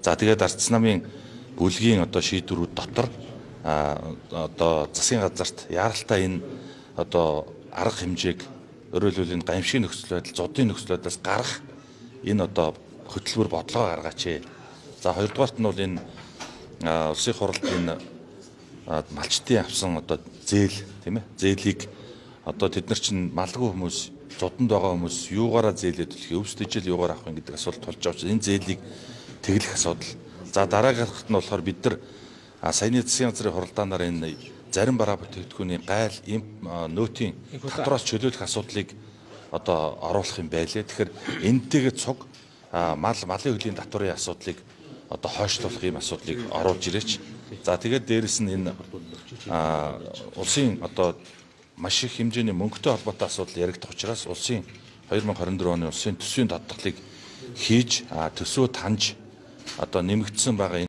За тэгээд ардс намын бүлгийн одоо шийдвэрүүд дотор одоо засгийн газарт яаралтай энэ одоо арга хэмжээг өөрөөр хэлбэл гамшигын нөхцөл байдал, зодын нөхцөл байдлаас гарах энэ одоо хөтөлбөр бодлого гаргаач. За хоёрдугаарт нь бол энэ улсын хуралд энэ малчтын авсан одоо зээл тийм ээ зээлийг одоо тэд нар чинь малгүй хүмүүс зодонд байгаа хүмүүс юугаараа зээлээд төлөх, өвс дэжил юугаар авах юм гэдэг асуулт тулж байгаа учраас энэ зээлийг тэглэх асуудал. За дараагийнх нь болохоор бид нар саяны засгийн газрын хуралдаанаар энэ зарим бараа бүтээгдэхүүний гайл нөөтийн татвараас чөлөөлөх асуудлыг одоо оруулах юм байлээ. Тэгэхээр энэтэйгээ цуг малын хөлийн татварын асуудлыг одоо хойшлуулах юм асуудлыг оруулж ирээч. За тэгээд дээрэс нь энэ улсын одоо маш их хэмжээний мөнгөтэй холбоотой асуудал яригдах учраас улсын 2024 оны улсын төсвийн тодтолыг хийж төсөө таньж одоо нэмэгдсэн байгаа